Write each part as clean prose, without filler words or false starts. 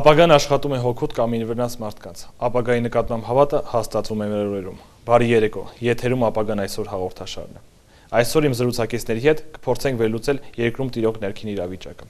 Ապագան աշխատում է հոգուտ կամ ինվերնաց մարդկանց, ապագայի նկատմամբ հավատը հաստատվում է մեր օրերում։ Բարի երեկո, եթերում ապագան այսօր հաղորդաշարն է։ Այսօր իմ զրուցակիցների հետ կփորձենք վերլուծել երկրում տիրող ներքին իրավիճակը,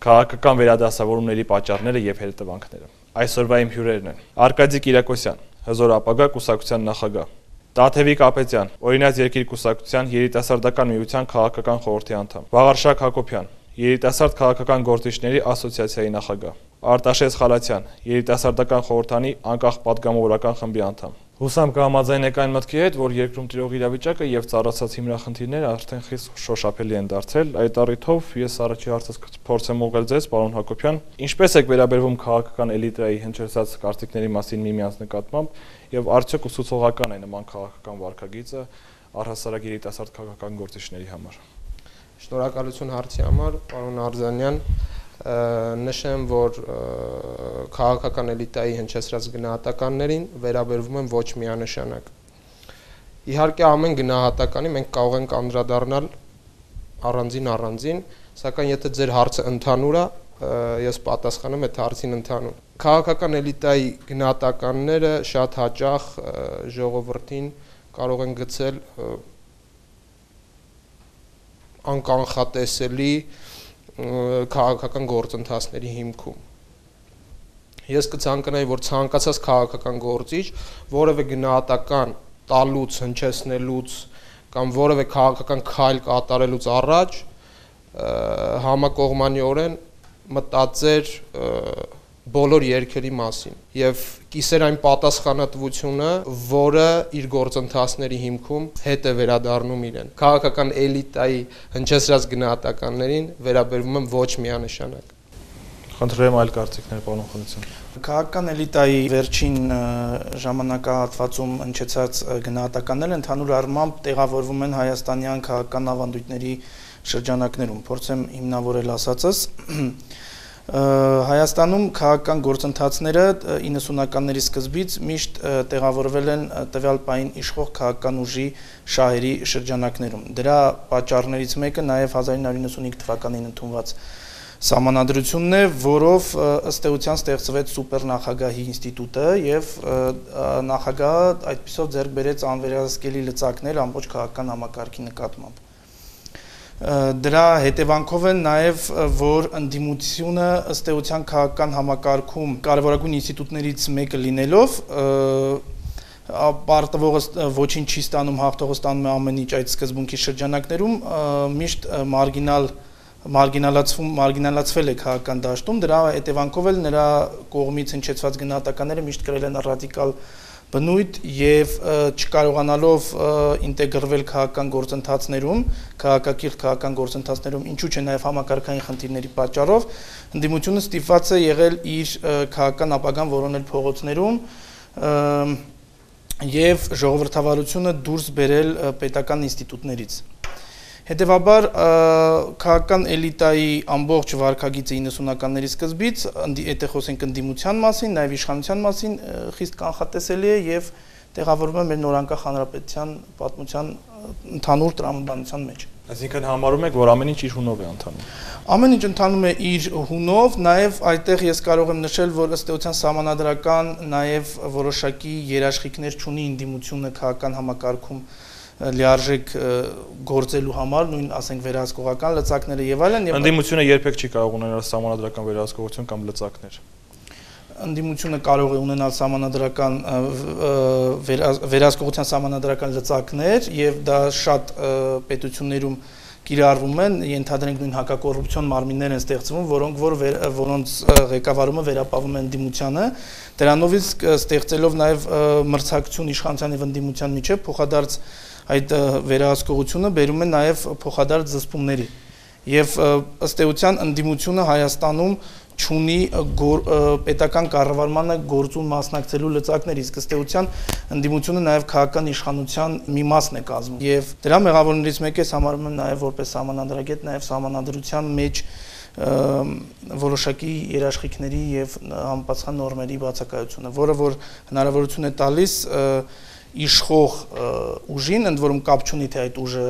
քաղաքական վերադասավորումների պատճառները եւ հետևանքները։ Այսօրվա իմ հյուրերն են Արկադի Կիրակոսյան, Հզոր ապագա կուսակցության նախագահ, Տաթևիկ Ապետյան, Օրինաց երկիր կուսակցության երիտասարդական միության քաղաքական խորհրդի անդամ, Վաղարշակ Հակոբյան, Երիտասարդ քաղաքական գործիչների ասոցիացիայի նախագահ, Արտաշես Խալաթյան, երիտասարդական խորհրդանի անկախ պատգամավորական խմբի անդամ։ Հուսամ կհամաձայնեք այն մտքի հետ, որ երկրում տիրող իրավիճակը եւ ծառացած հիմնախնդիրները արդեն խիստ շոշափելի են դարձել։ Այդ առիթով ես առաջի հարցս կփորձեմ ուղղել ձեզ, պարոն Հակոբյան, ինչպես եք վերաբերվում քաղաքական էլիտայի հնչեցած կարծիքների մասին միմյանց նկատմամբ եւ արդյոք ուսուցողական է նման քաղաքական վարքագիծը առհասարակ երիտասարդ քաղաքական գործիչների համար։ Շնորհակալություն հարցի համար, պարոն Արզանյան, նշեմ, որ քաղաքական էլիտայի հնչեցրած գնահատականներին վերաբերվում եմ ոչ միանշանակ։ Իհարկե ամեն գնահատականի մենք կարող ենք անդրադառնալ առանձին, սակայն եթե ձեր հարցը ընդհանուր է, ես պատասխանում եմ այդ հարցին ընդհանուր։ Քաղաքական էլիտայի գնահատականները շատ հաճախ ժողովրդին կարող են գցել անկանխատեսելի քաղաքական գործընթացների հիմքում։ Ես կցանկանայի, որ ցանկացած քաղաքական գործիչ որևէ գնահատական տալուց, հնչեցնելուց կամ որևէ քաղաքական քայլ կատարելուց առաջ համակողմանիորեն մտածեր բոլոր երկերի մասին եւ կիսեր այն պատասխանատվությունը, որը իր գործընթացների հիմքում հետ է վերադառնում իրեն։ Քաղաքական էլիտայի հնչեցրած գնահատականներին վերաբերվում եմ ոչ միանշանակ։ Խնդրեմ այլ կարծիքներ, պարոն Խանոսյան։ Քաղաքական էլիտայի վերջին ժամանակահատվածում հնչեցած գնահատականները ընդհանուր առմամբ տեղավորվում են հայաստանյան քաղաքական ավանդույթների շրջանակներում։ Փորձեմ հիմնավորել ասածս։ Հայաստանում քաղաքական գործընթացները 90-ականների սկզբից միշտ տեղավորվել են տվյալ պահին իշխող քաղաքական ուժի շահերի շրջանակներում։ Դրա պատճառներից մեկը նաև 1995 թվականին ընդունված սահմանադրությունն է, որով ըստ էության ստեղծվեց սուպերնախագահի ինստիտուտը եւ նախագահը այդպիսով ձեռք բերեց անվերահսկելի լծակներ ամբողջ քաղաքական համակարգի նկատմամբ։ Դրա հետևանքով են նաև, որ ընդդիմությունը ըստ էության քաղաքական համակարգում կարևորագույն ինստիտուտներից մեկը լինելով պարտվողը ոչինչ չի ստանում, հաղթողը ստանում է ամեն ինչ այդ սկզբունքի շրջանակներում միշտ մարգինալացվել է քաղաքական դաշտում, դրա հետևանքով էլ նրա կողմից հնչեցված գնահատականները միշտ կրել են ռադիկալ բնույթ եւ չկարողանալով ինտեգրվել քաղաքական գործընթացներում, քաղաքակիրթ քաղաքական գործընթացներում, ինչու՞ չէ նաեւ համակարգային խնդիրների պատճառով, ընդդիմությունը ստիպված է եղել իր քաղաքական ապագան որոնել փողոցներում եւ ժողովրդավարությունը դուրս բերել պետական ինստիտուտներից։ Հետևաբար քաղաքական էլիտայի ամբողջ վարքագիծը 90-ականների սկզբից, եթե խոսենք ընդդիմության մասին, նաև իշխանության մասին, խիստ կանխատեսելի է եւ տեղավորվում է մեր նորանկախ հանրապետության պատմության ընդհանուր տրամաբանության մեջ։ Այսինքն համարում եք, որ ամեն ինչ իր հունով է ընթանում։ Ամեն ինչ ընթանում է իր հունով, նաև այդտեղ ես կարող եմ նշել, որ ըստ էության սահմանադրական նաև որոշակի երաշխիքներ չունի ընդդիմությունը քաղաքական համակարգում լիարժեք գործելու համար, նույն ասենք վերահսկողական լծակները եւ այլն։ Ընդդիմությունը երբեք չի կարող ունենալ սահմանադրական վերահսկողություն կամ լծակներ։ Ընդդիմությունը կարող է ունենալ սահմանադրական վերահսկողության սահմանադրական լծակներ եւ դա շատ պետություններում կիրառվում են, ենթադրենք նույն հակակոռուպցիոն մարմիններ են ստեղծվում, որոնց ղեկավարումը վերապահվում է ընդդիմությանը, դրանով իսկ ստեղծելով նաեւ մրցակցություն իշխանության եւ ընդդիմության միջեւ փոխադարձ այդ վերահսկողությունը բերում է նաև փոխադարձ զսպումների եւ ըստ էության ընդդիմությունը Հայաստանում չունի պետական կառավարմանը գործուն մասնակցելու լծակներ, իսկ ըստ էության ընդդիմությունը նաև քաղաքական իշխանության մի մասն է կազմում եւ դրա մեղավորներից մեկը ես համարում եմ նաև որպես սահմանադրագետ նաև սահմանադրության մեջ որոշակի երաշխիքների եւ համապատասխան նորմերի բացակայությունը, որը որ հնարավորություն է տալիս իշխող ուժին, ընդ որում կապ չունի թե այդ ուժը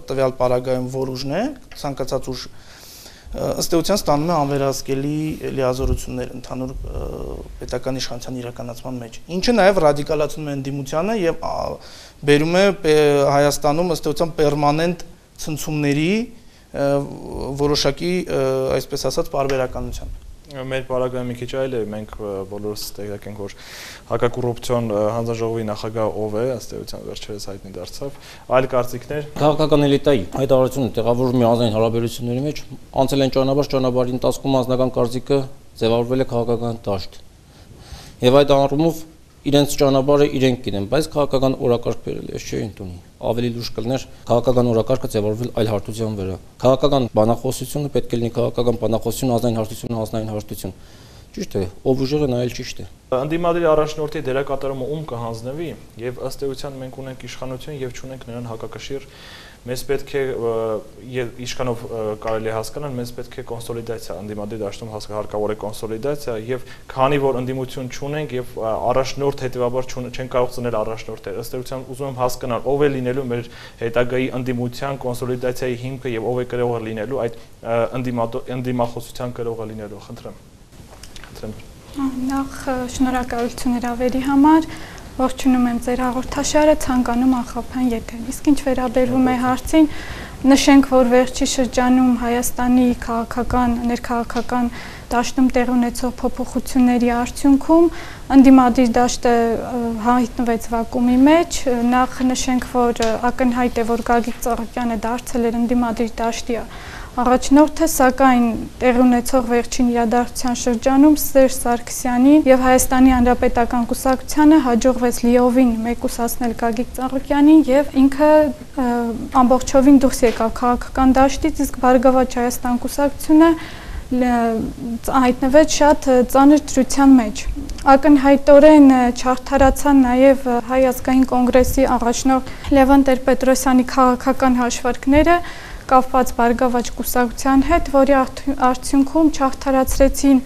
տվյալ պարագայում որ ուժն է, ցանկացած ուժ ըստ էության ստանում է անվերահսկելի լիազորություններ ընդհանուր պետական իշխանության իրականացման մեջ, ինչը նաև ռադիկալացնում է ընդդիմությանը եւ բերում է Հայաստանում ըստ էության պերմանենտ ցնցումների որոշակի, այսպես ասած, պարբերականության։ Մեր պարագայում մի քիչ այլ է, մենք բոլորս տեղյակ ենք, որ հակակոռուպցիոն հանձնաժողովի նախագահ ով է, ըստ էության վերջերս հայտնի դարձավ, այլ կարծիքներ։ Քաղաքական էլիտայի հայտարարությունը տեղավորվում է ազգային հարաբերությունների մեջ, անցել են ճանապարհի ընթացքում անձնական կարծիքը ձևավորվել է քաղաքական դաշտ։ Եվ այդ առումով իրենց ճանապարհը իրենք գիտեն, բայց քաղաքական օրակարգ բերել է, չէ՞ ընդունի։ Ավելի լուրջ կլներ քաղաքական օրակարգը ձևավորվել այլ հարթության վրա։ Քաղաքական բանախոսությունը պետք է լինի քաղաքական բանախոսություն, ազգային հարթությունը, ազգային հարթություն։ Ճիշտ է, ով ուժեղը նա էլ ճիշտ է։ Ընդդիմադիր առաջնորդի դերակատարումը ում կհանձնվի, եւ ըստ էության մենք ունենք իշխանություն եւ չունենք նրան հակակշիռ, մեզ պետք է իշխանով կարելի է հասկանալ, մեզ պետք է կոնսոլիդացիա, ընդդիմադիր դաշտում հարկավոր է կոնսոլիդացիա եւ քանի որ ընդդիմություն չունենք եւ առաջնորդ հետեւաբար չեն կարող ծնել առաջնորդներ, ըստ էության ուզում եմ հասկանալ ով է լինելու մեր հետագայի ընդդիմության կոնսոլիդացիայի հիմքը եւ ով է կրողը լինելու այդ ընդդիմախոսության կրողը լինելու, խնդրեմ։ Նախ շնորհակալություն հրավերի համար, ողջունում եմ ձեր հաղորդաշարը, ցանկանում անխափան եթեր։ Իսկ ինչ վերաբերվում է հարցին, նշենք, որ վերջի շրջանում Հայաստանի ներքաղաքական դաշտում տեղի ունեցող փոփոխությունների արդյունքում ընդդիմադիր դաշտը հայտնվեց վակուումի մեջ։ Նախ նշենք, որ ակնհայտ է, որ Գագիկ Ծառուկյանը դարձել էր ընդդիմադիր դաշտի առաջնորդը, սակայն տեղի ունեցող վերջին իրադարձության շրջանում Սերժ Սարգսյանին եւ Հայաստանի Հանրապետական կուսակցությանը հաջողվեց լիովին մեկուսացնել Գագիկ Ծառուկյանին եւ ինքը ամբողջովին դուրս եկավ քաղաքական դաշտից, իսկ Բարգավաճ Հայաստան կուսակցությունը հայտնվեց շատ ծանր դրության մեջ։ Ակնհայտորեն չարդարացան նաև Հայ ազգային կոնգրեսի առաջնորդ Լևոն Տեր-Պետրոսյանի քաղաքական հաշվարկները կապված Բարգավաճ կուսակցության հետ, որի արդյունքում չարդարացրեցին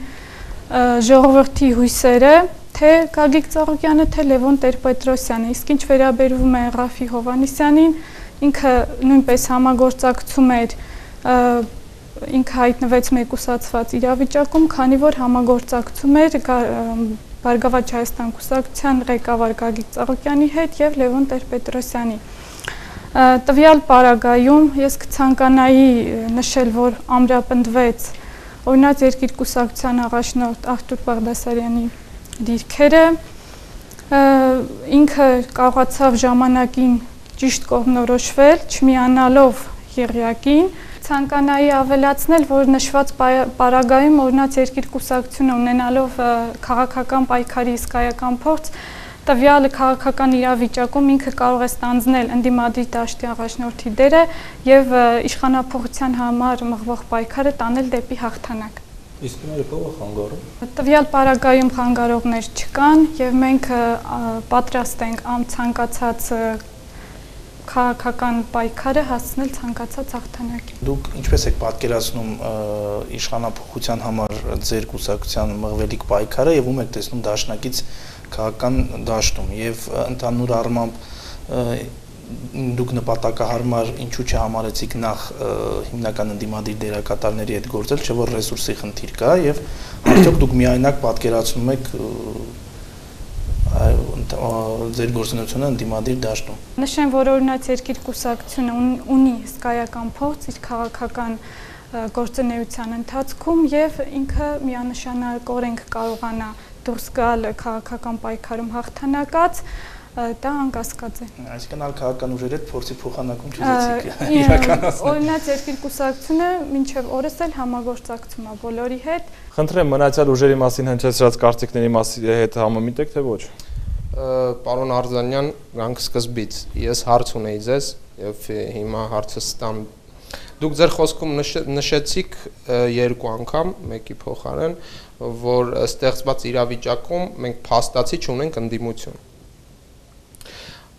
ժողովրդի հույսերը, թե Գագիկ Ծառուկյանը, թե Լևոն Տեր-Պետրոսյանը, իսկ ինչ վերաբերվում է Րաֆֆի Հովհաննիսյանին, ինքը նույնպես համագործակցում էր, ինքը հայտնվեց մեկուսացված իրավիճակում, քանի որ համագործակցում էր Բարգավաճ Հայաստան կուսակցության ղեկավար Գագիկ Ծառուկյանի հետ եւ Լևոն Տեր-Պետրոսյանի։ Տվյալ պարագայում ես կցանկանայի նշել, որ ամրապնդվեց օրինակ Երկիր կուսակցության առաջնորդ Արտուր Բաղդասարյանի դիրքերը, ինքը կարողացավ ժամանակին ճիշտ կողմնորոշվել, չմիանալով եղյակին, ցանկանայի ավելացնել, որ նշված պարագայում օրինակ Երկիր կուսակցությունը ունենալով քաղաքական պայքարի հսկայական փորձ, տվյալ քաղաքական իրավիճակում ինքը կարող է ստանձնել ընդդիմադիր դաշտի առաջնորդի դերը եւ իշխանափոխության համար մղվող պայքարը տանել դեպի հաղթանակ։ Իսկ ներքո խանգարում։ Տվյալ պարագայում խանգարողներ չկան եւ մենք պատրաստ ենք ցանկացած քաղաքական պայքարը հասցնել ցանկացած հաղթանակի։ Դուք ինչպես եք պատկերացնում իշխանափոխության համար ձեր կուսակցության մղվելիք պայքարը եւ ում եք տեսնում դաշնակից քաղաքական դաշտում եւ ընդհանուր առմամբ դուք նպատակահարմար ինչու չհամարեցիք նախ հիմնական ընդդիմադիր դերակատարների հետ գործել, չէ՞ որ ռեսուրսի խնդիր կա եւ արդյոք դուք միայնակ պատկերացնում եք ձեր գործունեությունը ընդդիմադիր դաշտում։ Նշեմ, որ օրինակ Երկիր կուսակցությունը ունի հսկայական փորձ իր քաղաքական գործունեության ընթացքում եւ ինքը միանշանակորեն կարողանա դուրս գալ քաղաքական պայքարում հաղթանակած, դա անկասկած է։ Այսինքն ալ քաղաքական ուժերի հետ փորձի փոխանակում չուզեցիք իրականացնել։ Օրինակ Երկիր կուսակցությունը մինչև օրս էլ համագործակցում է բոլորի հետ։ Խնդրեմ մնացյալ ուժերի մասին հնչեցրած կարծիքների հետ համեմիտ եք թե ոչ։ Պարոն Արզանյան, գանք սկզբից ես հարց ունեի ձեզ եւ հիմա հարցը ստամ։ Դուք ձեր խոսքում նշեցիք երկու անգամ, մեկի փոխարեն, որ ստեղծված իրավիճակում մենք փաստացի չունենք ընդդիմություն։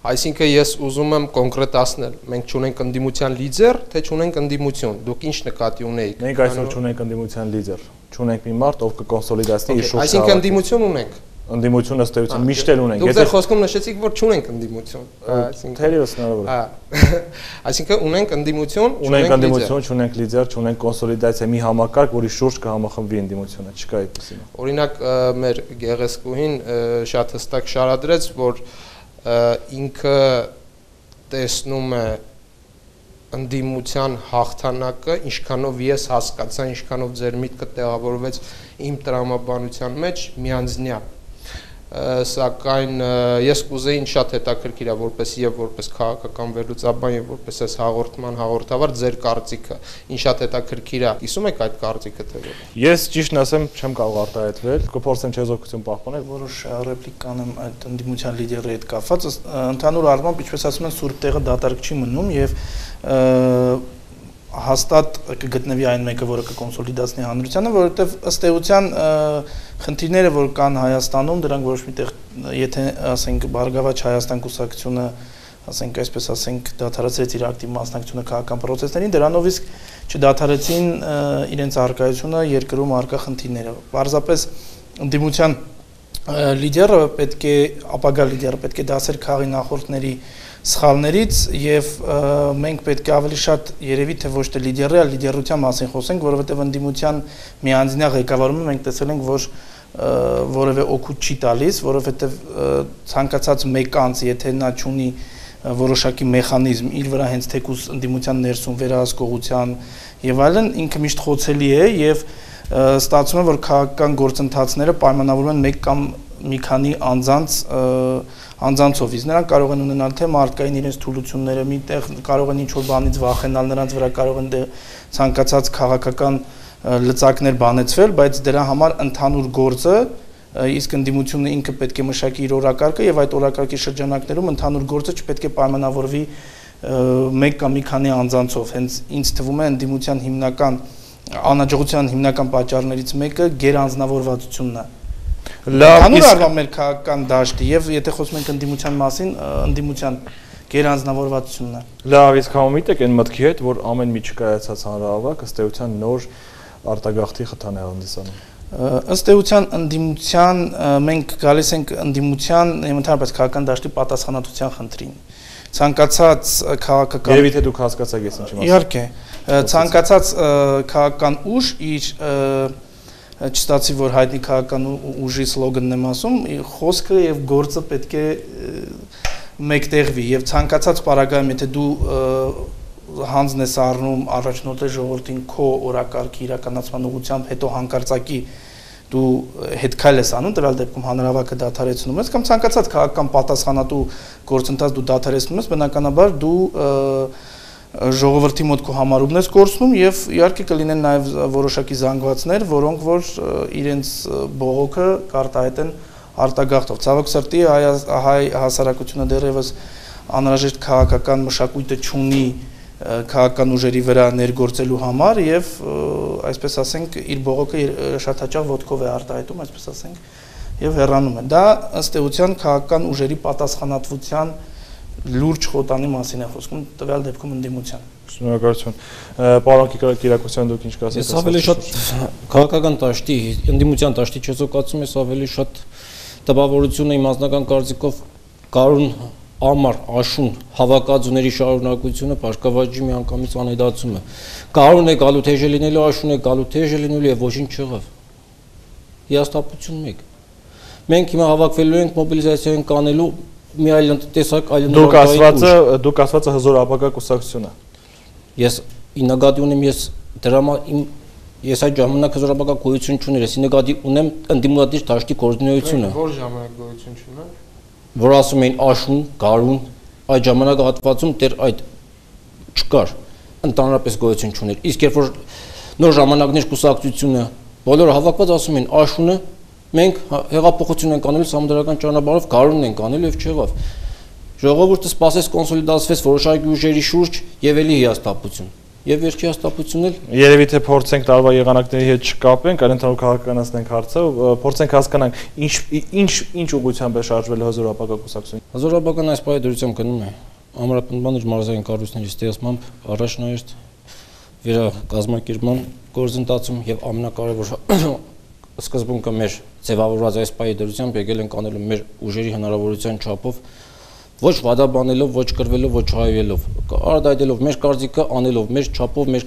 Այսինքն ես ուզում եմ կոնկրետացնել, մենք չունենք ընդդիմության լիդեր, թե չունենք ընդդիմություն։ Դուք ինչ նկատի ունեիք։ Մենք այսօր չունենք ընդդիմության լիդեր, չունենք մի մարդ, ով կկոնսոլիդացնի իր շուրջ։ Այսինքն ընդդիմություն ունենք։ Ընդդիմություն ըստ էության միշտ էլ ունենք։ Դուք ձեր խոսքում նշեցիք, որ չունենք ընդդիմություն, այսինքն թերևս հնարավոր է։ Այսինքն ունենք ընդդիմություն, չունենք լիդեր, չունենք կոնսոլիդացիա, մի համակարգ, որի շուրջ կհամախմբվի ընդդիմությունը, չկա այդպեսին։ Օրինակ մեր գեղեցկուհին շատ հստակ շարադրեց, որ ինքը տեսնում է ընդդիմության հաղթանակը, ինչքանով ես հասկացա, ինչքանով ձեր միտքը տեղավորվեց իմ տրամաբանության մեջ միանձնյա, սակայն ես կուզեի շատ հետաքրքիր է որպես եւ որպես քաղաքական վերլուծաբան եւ որպես այս հաղորդման հաղորդավար ձեր կարծիքը, ինչ շատ հետաքրքիր է, կիսում եք այդ կարծիքը թե ոչ։ Ես ճիշտն ասեմ, չեմ կարող արտահայտվել, կփորձեմ չեզոքություն պահպանել, որոշ ռեպլիկ կանեմ այդ ընդդիմության լիդերի հետ կապված, ընդհանուր առմամբ, ինչպես ասում են, սուրբ տեղը դատարկ չի մնում եւ հաստատ կգտնվի այն մեկը, որը կկոնսոլիդացնի հանրությանը, որովհետև ըստ էության խնդիրները, որ կան Հայաստանում, դրանք որոշ միտեղ, եթե ասենք Բարգավաճ Հայաստան կուսակցությունը, ասենք այսպես ասենք, դադարեցրեց իր ակտիվ մասնակցությունը քաղաքական պրոցեսներին, դրանով իսկ չդադարեցին իրենց առկայությունը երկրում առկա խնդիրները։ Պարզապես ընդդիմության լիդերը պետք է, ապագա լիդերը պետք է դասեր քաղի նախորդների սխալներից եւ մենք պետք է ավելի շատ երևի թե ոչ թե լիդերի, այլ լիդերության մասին խոսենք, որովհետեւ ընդդիմության միանձնյա ղեկավարումը մենք տեսել ենք, որ որևէ օգուտ չի տալիս, որովհետեւ ցանկացած մեկ անձ, եթե նա չունի որոշակի մեխանիզմ իր վրա հենց թեկուզ ընդդիմության ներսում վերահսկողության եւ այլն, ինքը միշտ խոցելի է եւ ստացվում է, որ քաղաքական գործընթացները պայմանավորվում են մեկ կամ մի քանի անձանցով, իսկ նրանք կարող են ունենալ թե մարդկային իրենց թուլությունները, միտեղ կարող են ինչ-որ բանից վախենալ, նրանց վրա կարող են ցանկացած քաղաքական լծակներ բանեցվել, բայց դրա համար ընդհանուր գործը, իսկ ընդդիմությունը ինքը պետք է մշակի իր օրակարգը եւ այդ օրակարգի շրջանակներում ընդհանուր գործը չպետք է պայմանավորվի մեկ կամ մի քանի անձանցով, հենց ինձ թվում է ընդդիմության հիմնական անհաջողության հիմնական պատճառներից մեկը գերանձնավորվածությունն է։ Հանուր առնվազն մեր քաղաքական դաշտի եւ եթե խոսում ենք ընդդիմության մասին, ընդդիմության գերանձնավորվածությունն է։ Լավ, իսկ համոմիտ եք այն մտքի հետ, որ ամեն մի չկայացած հանրահավաք ըստ էության նոր արտագաղթի խթան է հանդիսանում։ Ըստ էության ընդդիմության մենք գալիս ենք ընդդիմության եւ ընդհանրապես քաղաքական դաշտի պատասխանատվության խնդրին։ Ցանկացած քաղաքական Երևի թե դուք հասկացաք ես ինչի մասին։ Իհարկե, ցանկացած քաղաքական ուժ իր չստացի, որ հայտնի քաղաքական ուժի սլոգանն եմ ասում, խոսքը եւ գործը պետք է մեկտեղվի եւ ցանկացած պարագայում, եթե դու հանձն ես առնում առաջնորդի ժողովրդին քո օրակարգի իրականացման ուղղությամբ, հետո հանկարծակի դու հետքայլ ես անում, դրալ դեպքում հանրահավաքը դադարեցնում ես կամ ցանկացած քաղաքական պատասխանատու գործընթաց դու դադարեցնում ես, բնականաբար դու ժողովրդի մոտ քո համարումն ես կորցնում եւ իհարկե կլինեն նաեւ որոշակի զանգվածներ, որոնք որ իրենց բողոքը կարտահայտեն արտագաղթով։ Ցավոք սրտի հայ հասարակությունը դեռևս անհրաժեշտ քաղաքական մշակույթը չունի քաղաքական ուժերի վրա ներգործելու համար եւ այսպես ասենք իր բողոքը շատ հաճախ ոտքով է արտահայտում, այսպես ասենք, եւ հեռանում է։ Դա ըստ էության քաղաքական ուժերի պատասխանատվության լուրջ խոտանի մասին է խոսքում, տվյալ դեպքում ընդդիմության։ Շնորհակալություն։ Պարոն Կիրակոսյան, դուք ինչ կասեք։ Ես ավելի շատ քաղաքական դաշտի, ընդդիմության դաշտի չեզոքացում ես ավելի շատ տպավորությունը իմ անձնական կարծիքով Կարուն Ամար Աշուն հավաքածուների շարունակությունը Բարգավաճի միանգամից անհետացում է։ Կարուն է գալու թեժ լինելու, Աշուն է գալու թեժ լինելու եւ ոչինչ չեղավ։ Հիաստապություն մեկ։ Մենք հիմա հավաքվելու ենք մոբիլիզացիա ենք անելու մի այլ տեսակ այլ դուք ասվածը հզոր ապագա կուսակցությունը։ Ես նկատի ունեմ ես այդ ժամանակ հզոր ապագա գոյություն չուներ, ես նկատի ունեմ ընդդիմադիր դաշտի կոորդինացիությունը։ Որ ժամանակ գոյություն չուներ։ Որ ասում էին Աշուն, Գարուն, այդ ժամանակահատվածում դեռ այդ չկար, ընդհանրապես գոյություն չուներ։ Իսկ երբ որ նոր ժամանակներ կուսակցությունը բոլորը հավաքված ասում են Աշունը մենք հեղափոխություն ենք անել համադրական ճանապարհով, Գարունն ենք անել եւ չեղավ։ Ժողովուրդը սպասեց կոնսոլիդացվեց որոշակի ուժերի շուրջ եւ էլի հիաստապություն։ Եվ վերջի հաստատությունն էլ երևի թե փորձենք տարվա եղանակների հետ չկապենք, այլ ընդհանուր քաղաքականացնենք հարցը, փորձենք հասկանանք ինչ ուղղությամբ է շարժվել հզոր ապագա կուսակցությունը։ Հզոր ապագան այս պայմաններում գնում է ամրապնդման իր մարզային կառույցների ստեղծմամբ առաջնահերթ վերակազմակերպման գործընթացում եւ ամենակարևոր սկզբունքը մեր ձևավորված այս պահի դրությամբ եկել ենք անելու մեր ուժերի հնարավորության չափով, ոչ վադաբանելով, ոչ կրվելով, ոչ հայվելով, արտահայտելով մեր կարծիքը, անելով մեր չափով, մեր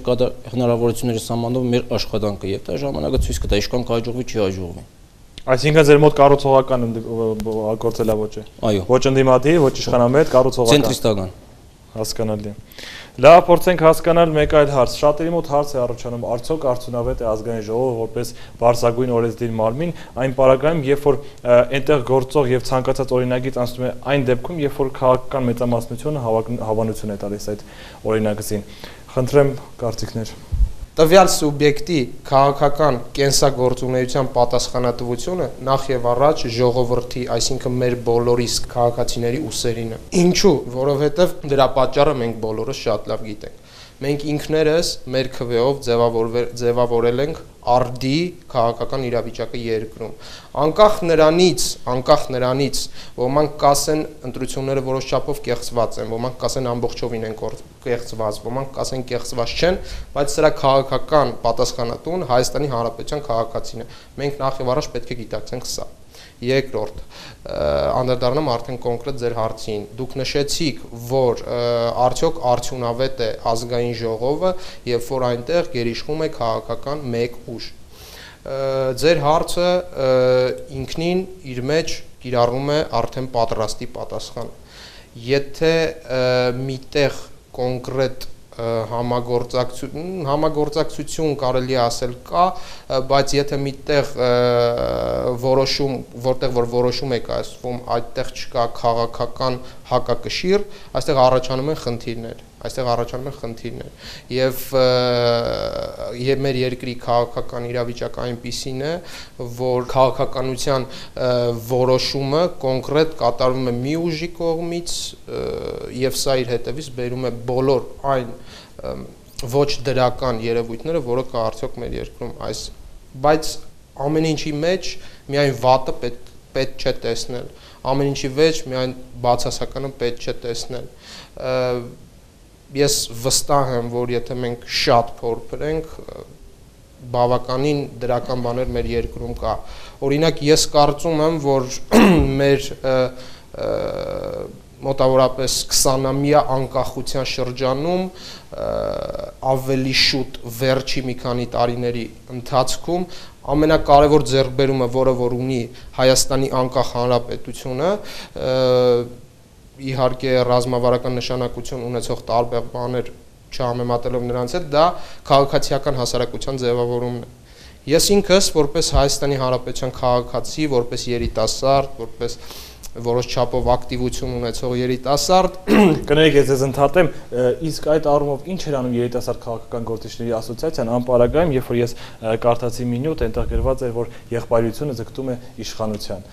հնարավորությունները սահմանով մեր աշխատանքը, եւ դա ժամանակը ցույց կտա, ինչքան կհաջողվի, չի հաջողվի։ Այսինքն ձեր մոտ կառուցողական գործելավոճ է։ Այո։ Ոչ ընդդիմադիր, ոչ իշխանամետ, կառուցողական։ Ցենտրիստական։ Հասկանալի։ Լավ, փորձենք հասկանալ մեկ այլ հարց։ Շատերի մոտ հարց է առաջանում, արդյոք արդյունավետ է ազգային ժողովը որպես բարձրագույն օրենսդիր մարմին այն պարագայում, երբ որ այնտեղ գործող եւ ցանկացած օրինագիծ անցնում է այն դեպքում, երբ որ քաղաքական մեծամասնությունը հավանություն է տալիս այդ օրինագծին։ Խնդրեմ կարծիքներ։ Տվյալ սուբյեկտի քաղաքական կենսագործունեության պատասխանատվությունը նախ եւ առաջ ժողովրդի, այսինքն մեր բոլորիս քաղաքացիների ուսերին է։ Ինչու՞, որովհետեւ դրա պատճառը մենք բոլորս շատ լավ գիտենք։ Մենք ինքներս մեր քվեով ձևավորել ենք արդի քաղաքական իրավիճակը երկրում։ Անկախ նրանից, ոմանք կասեն ընտրությունները որոշ չափով կեղծված են, ոմանք կասեն ամբողջովին են կեղծված, ոմանք կասեն կեղծված չեն, բայց սրա քաղաքական պատասխանատուն Հայաստանի Հանրապետության քաղաքացին է։ Մենք նախ եւ առաջ պետք է գիտակցենք սա։ Երկրորդ, անդրադառնամ արդեն կոնկրետ ձեր հարցին։ Դուք նշեցիք, որ արդյոք արդյունավետ է ազգային ժողովը, երբ որ այնտեղ գերիշխում է քաղաքական մեկ ուժ։ Ձեր հարցը ինքնին իր մեջ կիրառում է արդեն պատրաստի պատասխան։ Եթե միտեղ կոնկրետ համագործակցություն կարելի ասել կա, բայց եթե միտեղ որտեղ որ որոշում է կայացվում, այդտեղ չկա քաղաքական հակակշիռ, այստեղ առաջանում են խնդիրներ։ Եվ մեր երկրի քաղաքական իրավիճակը այնպիսին է, որ քաղաքականության որոշումը կոնկրետ կատարվում է մի ուժի կողմից եւ սա իր հետևից բերում է բոլոր այն ոչ դրական երևույթները, որը կա արդյոք մեր երկրում բայց ամեն ինչի մեջ միայն վատը պետք չէ տեսնել, ամեն ինչի մեջ միայն բացասականը պետք չէ տեսնել։ Ես վստահ եմ, որ եթե մենք շատ փորփրենք, բավականին դրական բաներ մեր երկրում կա։ Օրինակ, ես կարծում եմ, որ մեր մոտավորապես 20-ամյա անկախության շրջանում ավելի շուտ վերջի մի քանի տարիների ընթացքում ամենակարևոր ձեռքբերումը, որը որ ունի Հայաստանի անկախ հանրապետությունը, իհարկե ռազմավարական նշանակություն ունեցող տարբեր բաներ չհամեմատելով նրանց հետ, դա քաղաքացիական հասարակության ձևավորումն է։ Ես ինքս որպես Հայաստանի Հանրապետության քաղաքացի, որպես երիտասարդ, որպես որոշ չափով ակտիվություն ունեցող երիտասարդ, կներեք, ես ձեզ ընդհատեմ, իսկ այդ առումով ինչ էր անում երիտասարդ քաղաքական գործիչների ասոցիացիան անպարագայում, երբ որ ես կարդացի մի նյութ, այնտեղ գրված էր, որ եղբայրությունը ձգտում է իշխանության։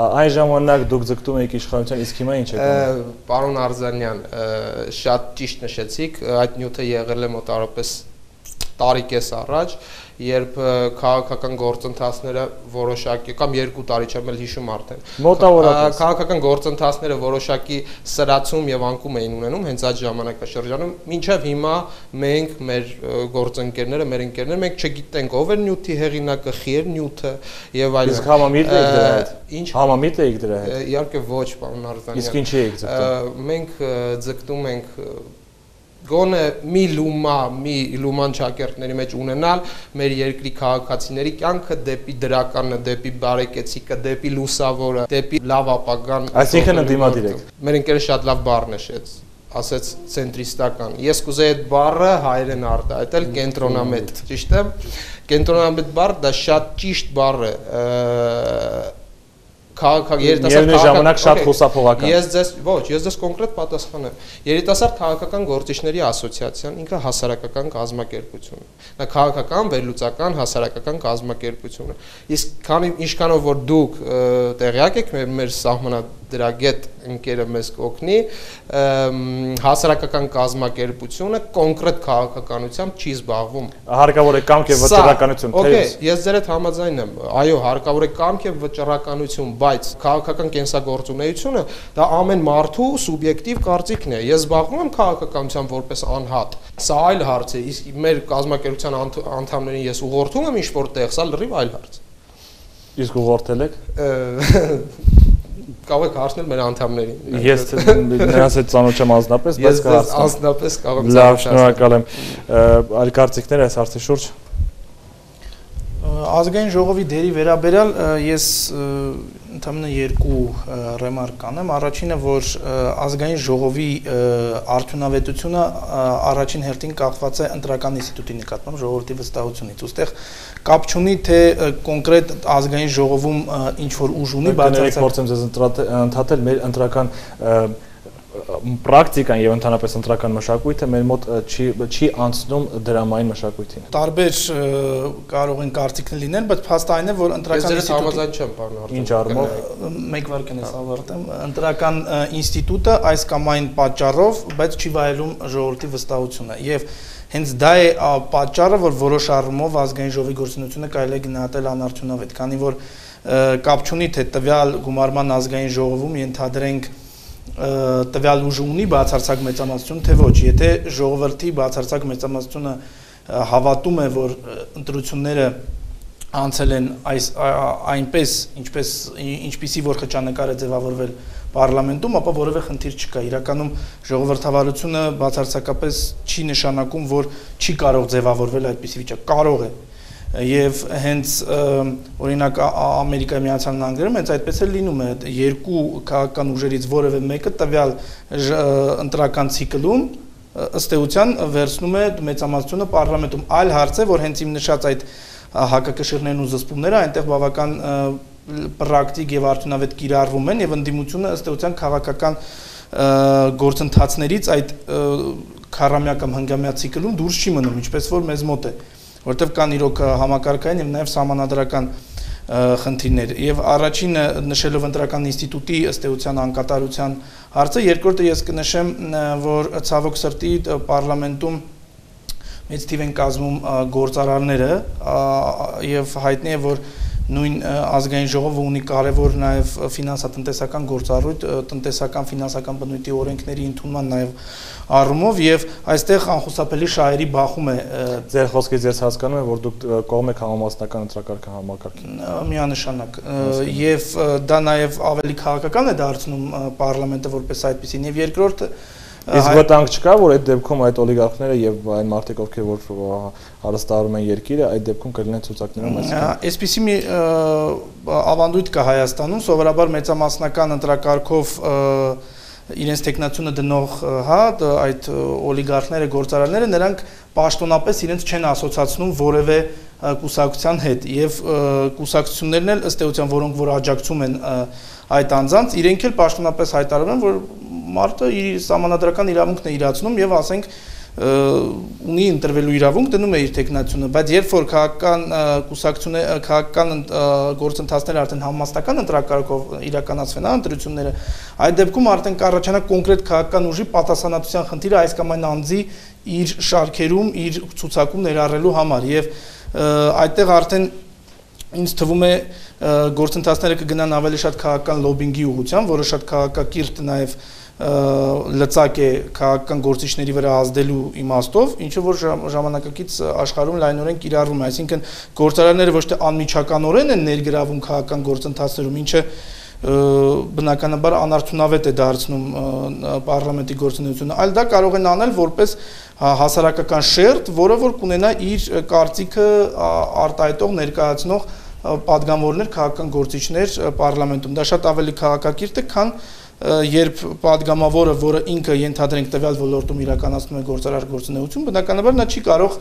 Այն ժամանակ դուք ձգտում եք իշխանության, իսկ հիմա ինչ եք անում։ Պարոն Արզանյան, շատ ճիշտ նշեցիք, այդ նյութը եղել է մոտավորապես տարի կես առաջ, երբ քաղաքական գործընթացները որոշակի կամ 2 տարի չեմ էլ հիշում արդեն։ Մոտավորապես քաղաքական գործընթացները որոշակի սրացում եւ անկում էին ունենում հենց այդ ժամանակաշրջանում, մինչեւ հիմա մենք մեր գործընկերները, մեր ընկերները մենք չգիտենք ով էր նյութի հեղինակը, խի էր նյութը եւ այլն։ Իսկ համամիտ եք դրա հետ։ Ինչ համամիտ եք դրա հետ։ Իհարկե ոչ, պարոն Արզանյան։ Իսկ ինչի եք ձգտում։ Մենք ձգտում ենք գոնե մի լուման ճակերտների մեջ ունենալ մեր երկրի քաղաքացիների կյանքը դեպի դրականը, դեպի բարեկեցիկը, դեպի լուսավորը, դեպի լավ ապագան։ Այսինքն ընդդիմադիր եք։ Մեր ընկերը շատ լավ բառ նշեց, ասեց ցենտրիստական։ Ես կուզեի այդ բառը հայերեն արտահայտել կենտրոնամետ, ճիշտ է։ Կենտրոնամետ բառը դա շատ ճիշտ բառ է։ Երիտասարդ ժամանակ շատ խուսափողական։ Ես ձեզ կոնկրետ պատասխանեմ։ Երիտասարդ քաղաքական գործիչների ասոցիացիան ինքը հասարակական կազմակերպություն է։ Դա քաղաքական, վերլուծական, հասարակական կազմակերպություն է։ Իսկ ինչքանով որ դուք տեղյակ եք, մեր սահմանադրագետ ընկերը մեզ կօգնի, հասարակական կազմակերպությունը կոնկրետ քաղաքականությամբ չի զբաղվում։ Հարկավոր է կամք եւ վճռականություն, Okay, ես ձեր հետ համաձայն եմ։ Այո, հարկավոր է կամք եւ վճռականություն, բայց քաղաքական կենսագործունեությունը դա ամեն մարդու սուբյեկտիվ կարծիքն է։ Ես զբաղվում եմ քաղաքականությամբ որպես անհատ։ Սա այլ հարց է, իսկ մեր կազմակերպության անդամներին ես ուղղորդում եմ ինչ-որ տեղ, սա լրիվ այլ հարց։ Իսկ ուղղորդել եք։ Կարող եք հարցնել մեր անդամներին։ Ես նրանց հետ ծանոթ չեմ անձնապես, բայց կհարցնեմ։ Անձնապես կարող եմ։ Լավ, շնորհակալ եմ։ Այլ կարծիքներ այս հարցի շուրջ։ Ազգային ժողովի դերի վերաբերյալ ես ընդամենը երկու ռեմարկ կանեմ։ Առաջինը, որ ազգային ժողովի արդյունավետությունը առաջին հերթին կախված է ընտրական ինստիտուտի նկատմամբ ժողովրդի վստահությունից։ Ոստեղ կապ չունի, թե կոնկրետ ազգային ժողովում ինչ որ ուժ ունի, բայց փորձեմ ձեզ ընդհատել մեր ընտրական պրակտիկան եւ ընդհանրապես ընտրական մշակույթը մեր մոտ չի անցնում դրամային մշակույթին։ Տարբեր կարող են կարծիքներ լինել, բայց փաստը այն է, որ ընտրական ինստիտուտը չեմ բառնարդում։ Ինչ առումով մեկ վարքան ես ավարտեմ, ընտրական ինստիտուտը այս կամ այն պատճառով, բայց չի վայելում ժողովրդի վստահությունը եւ հենց դա է պատճառը, որ որոշ առումով ազգային ժողովի գործունեությունը կարելի է գնահատել անարդյունավետ, քանի որ կապ չունի, թե տվյալ գումարման ազգային ժողովում ենթադրենք տվյալ ուժը ունի բացարձակ մեծամասնություն, թե ոչ, եթե ժողովրդի բացարձակ մեծամասնությունը հավատում է, որ ընտրությունները անցել են այնպես, ինչպիսի որ խճանկար է ձևավորվել պարլամենտում, ապա որևէ խնդիր չկա։ Իրականում ժողովրդավարությունը բացարձակապես չի նշանակում, որ չի կարող ձևավորվել այդպիսի վիճակ, կարող է։ Եվ հենց օրինակ Ամերիկայի Միացյալ Նահանգներում հենց այդպես է լինում է, երկու քաղաքական ուժերից որևէ մեկը տվյալ ընտրական ցիկլում ըստ էության վերցնում է մեծամասնությունը պարլամենտում։ Այլ հարց է, որ հենց իմ նշած այդ հակակշիռներն ու զսպումները այնտեղ բավական պրակտիկ եւ արդյունավետ կիրառվում են եւ ընդդիմությունը ըստ էության քաղաքական գործընթացներից այդ քառամյա կամ հնգամյա ցիկլում դուրս չի մնում, ինչպես որ մեզ մոտ է, որտեղ կան իրոք համակարգային եւ նաեւ սահմանադրական խնդիրներ։ Եվ առաջինը նշելով ընտրական ինստիտուտի ըստ էության անկատարության հարցը, երկրորդը ես կնշեմ, որ ցավոք սրտի պարլամենտում մեծ թիվ են կազմում գործարարները եւ հայտնի է, որ նույն ազգային ժողովը ունի կարևոր նաև ֆինանսատնտեսական գործառույթ, տնտեսական ֆինանսական բնույթի օրենքների ընդունման նաև առումով եւ այստեղ անխուսափելի շահերի բախում է։ Ձեր խոսքից ես հասկանում եմ, որ դուք կողմ եք համամասնական ընտրակարգ համակարգին։ Միանշանակ եւ դա նաև ավելի քաղաքական է դարձնում պարլամենտը որպես այդպեսին եւ երկրորդը Իսկ վտանգ չկա, որ այդ դեպքում այդ օլիգարխները եւ այն մարդիկ, ովքեր որ հարստարում են երկիրը, այդ դեպքում կլինեն ցուցակներում այսինքն։ Այսպիսի մի ավանդույթ կա Հայաստանում, սովորաբար մեծամասնական ընտրակարգով իրենց տեխնացիոնը դնող, այդ օլիգարխները, գործարարները, նրանք պաշտոնապես իրենց չեն ասոցացնում որևէ կուսակցության հետ եւ կուսակցություններն էլ ըստ էության, որոնք որ աջակցում են այդ անձանց, իրենք էլ պաշտոնապես հայտարարում են, որ մարդը իր սահմանադրական իրավունքն է իրացնում եւ ասենք ունի ընտրվելու իրավունք, դնում է իր տեխնացիոնը, բայց երբ որ քաղաքական կուսակցությունները, քաղաքական գործընթացները արդեն համամասնական ընտրակարգով իրականացվեն ընտրությունները, այդ դեպքում արդեն կառաջանա կոնկրետ քաղաքական ուժի պատասխանատվության խնդիրը այս կամ այն անձի իր շարքերում, իր ցուցակում ներառելու համար եւ այդտեղ արդեն ինձ թվում է գործընթացները կգնան ավելի շատ քաղաքական լոբինգի ուղղությամբ, որը շատ քաղաքակիրթ նաեւ լծակ է քաղաքական գործիչների վրա ազդելու իմաստով, ինչը որ ժամանակակից աշխարհում լայնորեն կիրառվում է, այսինքն գործարարները ոչ թե անմիջականորեն են ներգրավում քաղաքական գործընթացներում, ինչը բնականաբար անարդյունավետ է դարձնում պարլամենտի գործունեությունը, այլ դա կարող են անել որպես հասարակական շերտ, որը որ կունենա իր կարծիքը արտահայտող ներկայացնող պատգամավորներ, քաղաքական գործիչներ պարլամենտում։ Դա շատ ավելի քաղաքակիրթ է, քան երբ պատգամավորը, որը ինքը ենթադրենք տվյալ ոլորտում իրականացնում է գործարար գործունեություն, բնականաբար նա չի կարող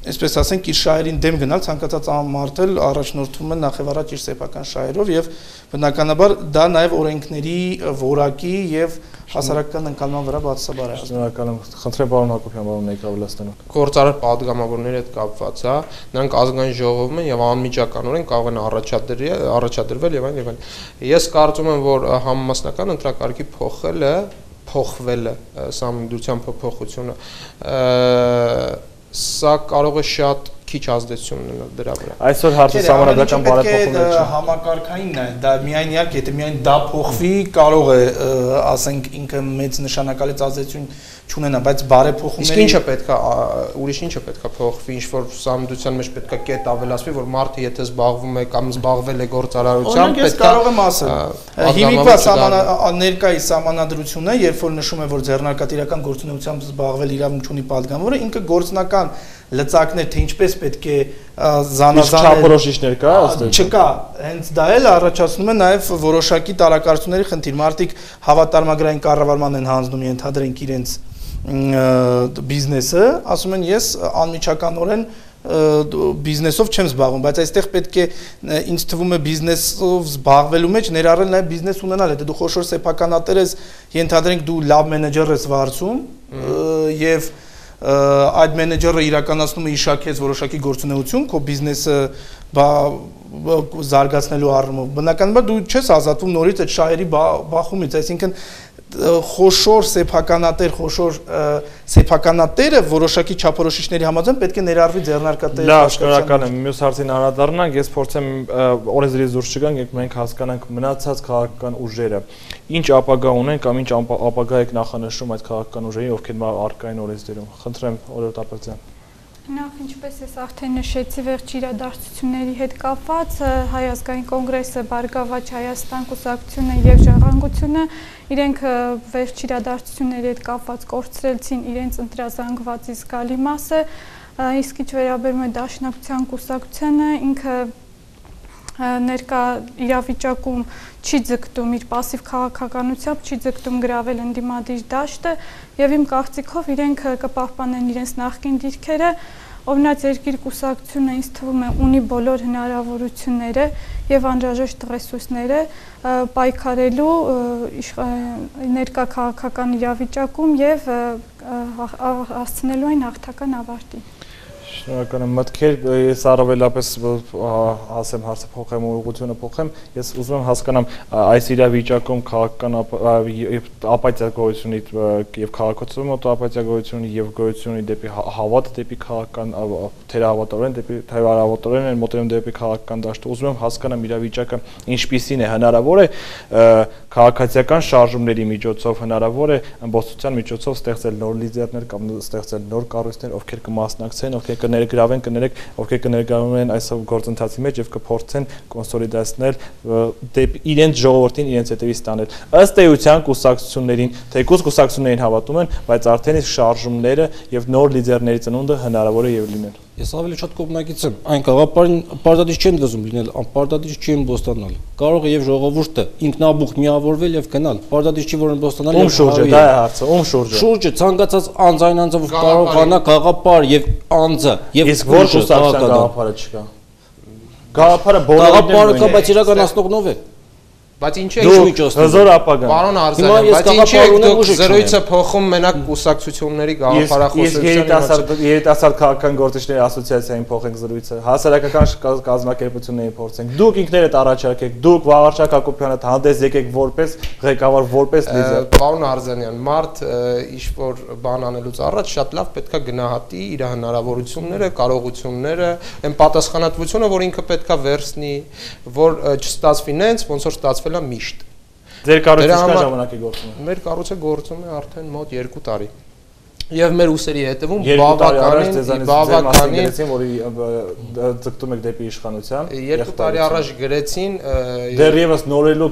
այսպես ասենք իր շահերին դեմ գնալ, ցանկացած մարդ էլ առաջնորդվում է նախևառաջ իր սեփական շահերով եւ բնականաբար դա նաեւ օրենքների որակի եւ հասարակական ընկալման վրա բացասաբար է։ Շնորհակալ եմ, խնդրեմ պարոն Հակոբյան, պարոն ներկայացնելու։ Գործարար պատգամավորների հետ կապված, նրանք ազգային ժողովում են եւ անմիջականորեն կարող են առաջադրվել եւ այլն եւ այլն։ Ես կարծում եմ, որ համամասնական ընտրակարգի փոխվելը, սահմանադրության փոփոխությունը սա կարող է շատ քիչ ազդեցություն ունենալ դրա վրա։ Այսօր հարցը սահմանադրական բարեփոխումներ չի։ Համակարգայինն է, դա միայն իհարկե, եթե միայն դա փոխվի, կարող է, ասենք, ինքը մեծ նշանակալից ազդեցություն չունենա, բայց բարեփոխումների Իսկ ինչը պետք է ուրիշ ինչը պետք է փոխվի, ինչ որ սահմանության մեջ պետք է կետ ավելացվի, որ մարդը եթե զբաղվում է կամ զբաղվել է գործարարությամբ, պետք է կարող եմ ասել։ Հիմիկվա ներկայիս սահմանադրությունը, երբ որ նշում է, որ ձեռնարկատիրական գործունեությամբ զբաղվել իրավունք ունի պատգամավորը, ինքը գործնական լծակներ, թե ինչպես պետք է զանազանել չափորոշիչներ կա, չկա, հենց դա էլ առաջացնում է նաև որոշակի տարակարծությունների խնդիր։ Մարդիկ հավատարմագրային կառավարման են հանձնում, ենթադրենք իրենց բիզնեսը, ասում են ես անմիջականորեն բիզնեսով չեմ զբաղվում, բայց այստեղ պետք է ինձ թվում է բիզնեսով զբաղվելու մեջ ներառել նաև բիզնես ունենալ, եթե դու խոշոր սեփականատեր ես, ենթադրենք դու լավ մենեջեր ես վարձում եւ այդ մենեջերը իրականացնում է իշակեց որոշակի գործունեություն, քո բիզնեսը զարգացնելու առումով։ Բնականաբար դու չես ազատվում նորից այդ շահերի բախումից, այսինքն խոշոր սեփականատերը որոշակի չափորոշիչների համաձայն պետք է ներառվի ձեռնարկատերի Լավ, շնորհակալ եմ։ Մյուս հարցին անդրադառնանք, ես փորձեմ օրենսդրից դուրս չգանք, երբ մենք հասկանանք մնացած քաղաքական ուժերը, ինչ ապագա ունեն կամ ինչ ապագա եք նախանշում այդ քաղաքական ուժերի, ովքեր առկային օրենսդրում։ Խնդրեմ, Օրորդ Ապրեցյան։ Նախ ինչպես ես արդեն նշեցի վերջի իրադարձությունների հետ կապված Հայ ազգային կոնգրեսը, Բարգավաճ Հայաստան կուսակցությունը եւ Ժառանգությունը իրենք վերջի իրադարձությունների հետ կապված կորցրեցին իրենց ընտրազանգվածի զգալի մասը, իսկ ինչ վերաբերում է Դաշնակցության կուսակցությանը, ինքը ներկա իրավիճակում չի ձգտում իր пассив քաղաքականությամբ, չի ձգտում գրավել ընդդիմադիր դաշտը եւ իմ կարծիքով իրենք կպահպանեն իրենց նախկին դիրքերը, օրինակ երկիր կուսակցությունը ինձ թվում է ունի բոլոր հնարավորությունները եւ անհրաժեշտ ռեսուրսները պայքարելու ներկա քաղաքական իրավիճակում եւ հասցնելու այն հաղթական ավարտին։ Շնորհակալ եմ, մտքեր, ես առավելապես ասեմ հարցը փոխեմ, ուղղությունը փոխեմ, ես ուզում եմ հասկանամ այս իրավիճակում քաղաքական ապաթիա գոյությունի եւ քաղաքացիության մոտ ապաթիա գոյությունի եւ գոյությունի դեպի հավատը դեպի քաղաքական թերահավատորեն դեպի թերահավատորեն մոտենում դեպի քաղաքական դաշտը, ուզում եմ հասկանամ իրավիճակը ինչպիսին է, հնարավոր է քաղաքացիական շարժումների միջոցով, հնարավոր է ամբողջության միջոցով ստեղծել նոր լիդերներ կամ ստեղծել նոր կառույցներ, ովքեր կմասնակցեն, ովքեր կներգրավեն, ովքեր կներգրավեն այս գործընթացի մեջ եւ կփորձեն կոնսոլիդացնել իրենց ժողովրդին իրենց հետևից տանել։ Ըստ էության կուսակցություններին, թեկուզ կուսակցություններին հավատում են, բայց արդեն իսկ շարժումները եւ նոր լիդերների ծնունդը հնարավոր է եւ լինել։ Ես ավելի շատ կողմնակից եմ, այն գաղափարին պարտադիր չեն դզում լինել, անպարտադիր չի ըմբոստանալ։ Կարող է եւ ժողովուրդը ինքնաբուխ միավորվել եւ գնալ։ Պարտադիր չի որ ըմբոստանալ եւ շուրջը, դա է հարցը, ում շուրջը։ Շուրջը ցանկացած անձայն անձով կարողանա գաղափար եւ անձը եւ իսկ որ կուսակցության գաղափարը չկա։ Գաղափարը բոլորին կա, բայց իրականացնողնով է։ Բայց ինչի հզոր ապագան։ Պարոն Արզանյան, բայց ինչի եք դուք զրույցը փոխում մենակ կուսակցությունների գաղափարախոսությունների երիտասարդ քաղաքական գործիչների ասոցիացիային փոխենք զրույցը, հասարակական կազմակերպություններին փորձենք։ Դուք ինքներդ առաջարկեք, դուք Վաղարշակ Հակոբյանը հանդես եկեք որպես ղեկավար, որպես լիդեր։ Պարոն Արզանյան, մարդ ինչ-որ բան անելուց առաջ շատ լավ պետքա գնահատի իր հնարավորությունները, կարողությունները, այն պատասխանատվությունը, որ ինքը պետքա վերցնի, որ չստացվի նենց, ոնց որ ստացվել միշտ։ Ձեր կառույցը ինչ ժամանակ է գործում։ Մեր կառույցը գործում է արդեն մոտ 2 տարի։ Եվ մեր ուսերի հետևում բավականին որի ձգտում եք դեպի իշխանության 2 տարի առաջ գրեցին դեռևս նորելու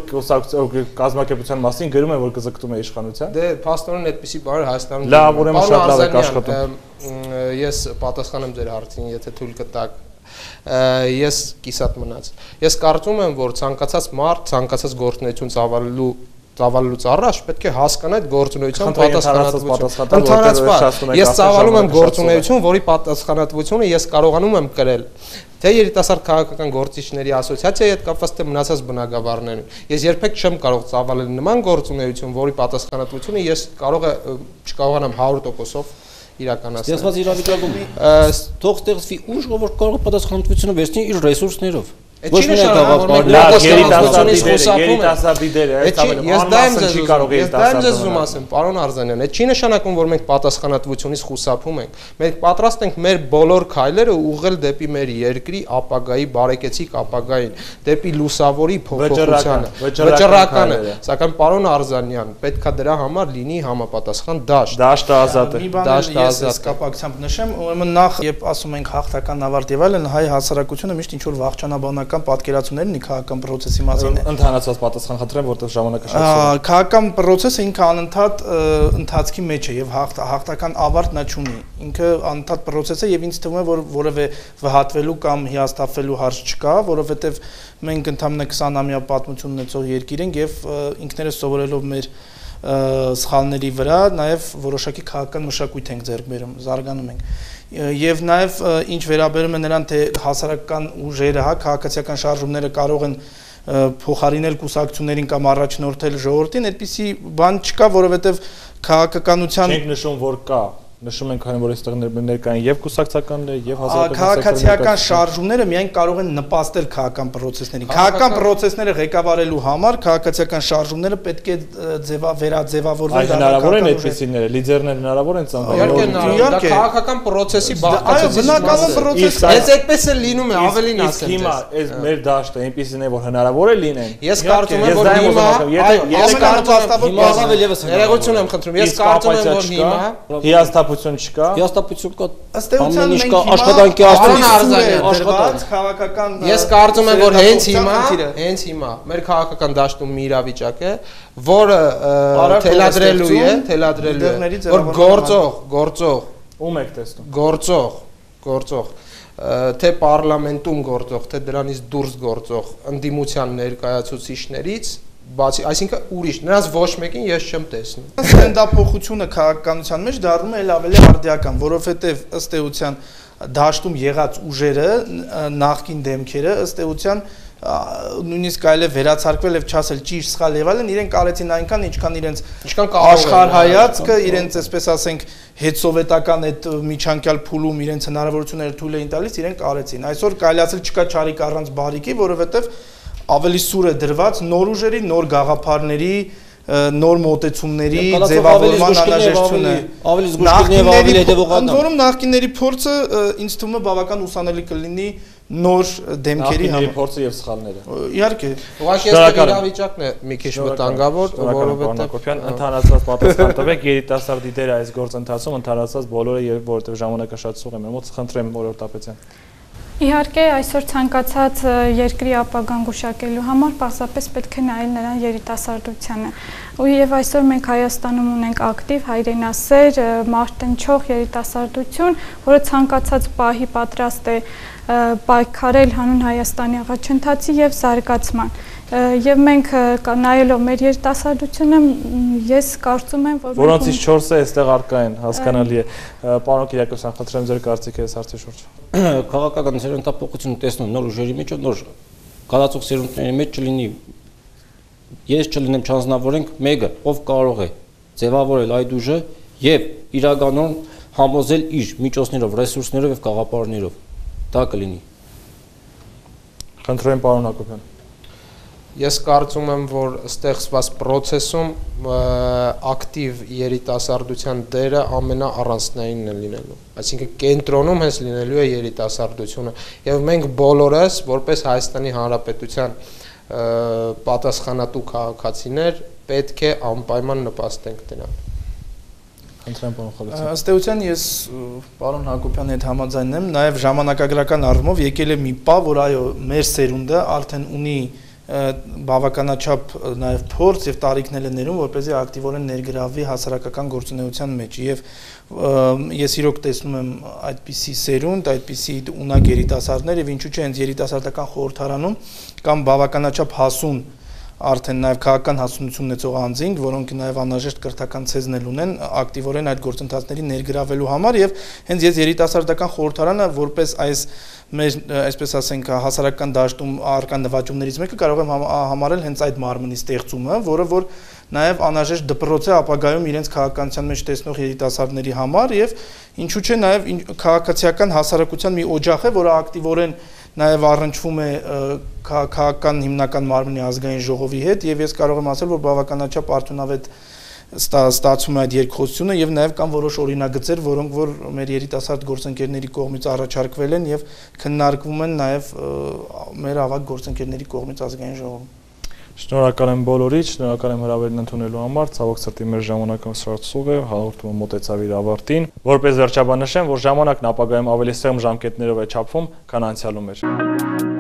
կազմակերպության մասին գրում են որ կձգտում է իշխանության։ Դե փաստորեն այդպեսի բառ Հայաստանում լավ, ուրեմն շատ լավ եք աշխատում։ Ես պատասխանեմ ձեր հարցին, եթե թույլ կտաք։ Ես կիսատ մնաց։ Ես կարծում եմ, որ ցանկացած մարդ, ցանկացած գործունեություն ծավալելուց առաջ պետք է հասկանա այդ գործունեության պատասխանատվությունը։ Ընդհանրապես, ես ծավալում եմ գործունեություն, որի պատասխանատվությունը ես կարողանում եմ կրել թե երիտասարդ քաղաքական գործիչների ասոցիացիայի հետ կապված թե մնացած բնակավարներն։ Ես երբեք չեմ կարող ծավալել նման գործունեություն, որի պատասխանատվությունը ես չկարողանամ 100%-ով իրականացնել։ Ստեղծված իրավիճակում թող ստեղծվի ուժ, որ կարող է պատասխանատվությունը վերցնել իր ռեսուրսներով։ Ոչ միայն երիտասարդի դերը, ես դա եմ ձեզ ուզում ասեմ, պարոն Արզանյան, այդ չի նշանակում, որ մենք պատասխանատվությունից խուսափում ենք։ Մենք պատրաստ ենք մեր բոլոր քայլերը ուղղել դեպի մեր երկրի ապագայի, բարեկեցիկ ապագային, դեպի լուսավորի փոփոխությանը, վճռականը, սակայն պարոն Արզանյան, պետքա դրա համար լինի համապատասխան դաշտ։ Դաշտը ազատ է։ Դաշտը ազատ կապակցությամբ նշեմ, ուրեմն նախ, երբ ասում ենք հաղթական ավարտ եւ այլն, հայ հասարակությունը միշտ ինչ որ վաղճանաբանական պատկերացումներն ի քաղաքական process-ի մասին է։ Ընդհանրացված պատասխան խնդրեմ, որտեղ ժամանակը շատ սուր է։ Քաղաքական process-ը ինքը անընդհատ ընթացքի մեջ է եւ հաղթական ավարտ նա չունի։ Ինքը անընդհատ process է եւ ինձ թվում է, որ որևէ վհատվելու կամ հիասթափվելու հարց չկա, որովհետեւ մենք ընդամենը 20-ամյա պատմություն ունեցող երկիր ենք եւ ինքներս սովորելով մեր սխալների վրա նաև որոշակի քաղաքական մշակույթ ենք ձեռք բերում, զարգանում ենք։ Եվ նաև ինչ վերաբերում է նրան, թե հասարակական ուժերը, հա, քաղաքացիական շարժումները կարող են փոխարինել կուսակցություններին կամ առաջնորդել ժողովրդին, այդպիսի բան չկա, որովհետև քաղաքականության չենք նշում, որ կա։ Նշում ենք այն, որ այստեղ ներկային եւ կուսակցականները եւ քաղաքացիական շարժումները միայն կարող են նպաստել քաղաքական process-ներին։ Քաղաքական process-ները ղեկավարելու համար քաղաքացիական շարժումները պետք է վերաձևավորվեն։ Հնարավոր են այդպիսիները, լիդերներ հնարավոր են ծնվել։ Իհարկե, դա քաղաքական process-ի բաղկացուցիչ մաս է։ Այս այդպես է լինում է, ավելին ասեմ։ Հիմա այս մեր դաշտը այնպեսին է, որ հնարավոր է լինեն։ Ես կարծում եմ, որ ներողություն եմ խնդրում, ես կարծում եմ, որ հիմա հիասթափություն չկա։ Հիասթափություն կա։ Ըստ էության մենք աշխատանքի քաղաքական Ես կարծում եմ, որ հենց հիմա մեր քաղաքական դաշտում մի իրավիճակ է, որը թելադրելու է, որ գործող ում եք տեսնում։ Գործող թե պարլամենտում գործող, թե դրանից դուրս գործող ընդդիմության ներկայացուցիչներից բացի, այսինքն ուրիշ, նրանց ոչ մեկին ես չեմ տեսնում։ Ստենդափոխությունը քաղաքականության մեջ դառնում է ավելի արդիական, որովհետև ըստ էության դաշտում եղած ուժերը, նախկին դեմքերը, ըստ էության նույնիսկ կարելի է վերացարկվել եւ չասել ճիշտ սխալ եւ այլն, իրենք արեցին այնքան, ինչքան իրենց աշխարհայացքը, իրենց, այսպես ասենք, հետսովետական այդ միջանկյալ փուլում իրենց հնարավորությունները թույլ էին տալիս, իրենք արեցին։ Այսօր կարելի ասել չկա չարիք առանց բարիքի, որովհետեւ ավելի սուր է դրված նոր ուժերի, նոր գաղափարների, նոր մոտեցումների ձևավորման անհրաժեշտությունը, ավելի զգուշ եւ ավելի հետեւողական։ Ընդ որում նախկինների փորձը ինձ թվում է բավական ուսանելի կլինի նոր դեմքերի համար։ Փորձը եւ սխալները։ Իհարկե։ Ուղղակի այս իրավիճակն է մի քիչ վտանգավոր, որովհետեւ ընդհանրացված պատասխան տվեք երիտասարդի դերը այս գործընթացում, ընդհանրացված բոլորը եւ որովհետեւ ժամանակը շատ սուղ է մեր մոտ, խնդրեմ Օրոր Տապետյան։ Իհարկե, այսօր ցանկացած երկրի ապագան գուշակելու համար պարզապես պետք է նայել նրան երիտասարդությանը։ Եվ այսօր մենք Հայաստանում ունենք ակտիվ հայրենասեր, մարտնչող երիտասարդություն, որը ցանկացած պահի պատրաստ է պայքարել հանուն Հայաստանի առաջընթացի եւ զարգացման։ Եվ մենք նայելով մեր երիտասարդությունը, ես կարծում եմ, որ որոնցից 4-ը այստեղ առկա են, հասկանալի է։ Պարոն Կիրակոսյան, խնդրեմ ձեր կարծիքը այս հարցի շուրջ։ Քաղաքական սերունդապոխությունը տեսնում նոր ուժերի մեջ, նոր գալացող սերունդների մեջ չլինի, ես չլինեմ չանձնավորենք մեկը, ով կարող է ձևավորել այդ ուժը եւ իրականում համոզել իր միջոցներով, ռեսուրսներով եւ գաղափարներով։ Դա կլինի։ Խնդրեմ պարոն Հակոբյան։ Ես կարծում եմ, որ ստեղծված process-ում ակտիվ երիտասարդության դերը ամենաառանցքնայինն է լինելու։ Այսինքն կենտրոնում հենց լինելու է երիտասարդությունը եւ մենք բոլորս որպես Հայաստանի Հանրապետության պատասխանատու քաղաքացիներ պետք է անպայման նպաստենք դրան։ Խնդրեմ պարոն Խալիցյան։ Ըստ էության ես պարոն Հակոբյանի հետ համաձայնում եմ, նաեւ ժամանակագրական առումով եկել է մի պահ, որ այո, մեր սերունդը արդեն ունի բավականաչափ նաև փորձ եւ տարիքներ են ներում, որպեսզի ակտիվորեն ներգրավվի հասարակական գործունեության մեջ եւ ես իրոք տեսնում եմ այդպիսի սերունդ, այդպիսի ունակ երիտասարդներ եւ ինչու՞ չէ հենց երիտասարդական խորհրդարանում կամ բավականաչափ հասուն արդեն նաև քաղաքական հասունություն ունեցող անձինք, որոնք նաև անհրաժեշտ կրթական ցեզնել ունեն ակտիվորեն այդ գործընթացների ներգրավելու համար եւ հենց ես երիտասարդական խորհրդարանը որպես այս մեր այսպես ասենք հասարակական դաշտում առկա նվաճումներից մեկը կարող եմ համարել հենց այդ մարմնի ստեղծումը, որը որ նաև անհրաժեշտ դպրոց է ապագայում իրենց քաղաքականության մեջ տեսնող երիտասարդների համար եւ ինչու՞ չէ նաև քաղաքացիական հասարակության մի օջախ է, որը ակտիվորեն նաև առնչվում է քաղաքական հիմնական մարմնի ազգային ժողովի հետ եւ ես կարող եմ ասել, որ բավականաչափ արդյունավետ ստացվում է այդ երկխոսությունը եւ նաև կան որոշ օրինագծեր, որոնք որ մեր երիտասարդ գործընկերների կողմից առաջարկվել են եւ քննարկվում են նաև մեր ավագ գործընկերների կողմից ազգային ժողովում։ Շնորհակալ եմ բոլորիդ, շնորհակալ եմ հրավերն ընդունելու համար, ցավոք սրտի մեր ժամանակը սրացող է, հաղորդումը մոտեցավ իր ավարտին, որպես վերջաբան նշեմ, որ ժամանակն ապագայում ավելի սեղմ ժամկետներով է չափվում, քան անցյալում էր։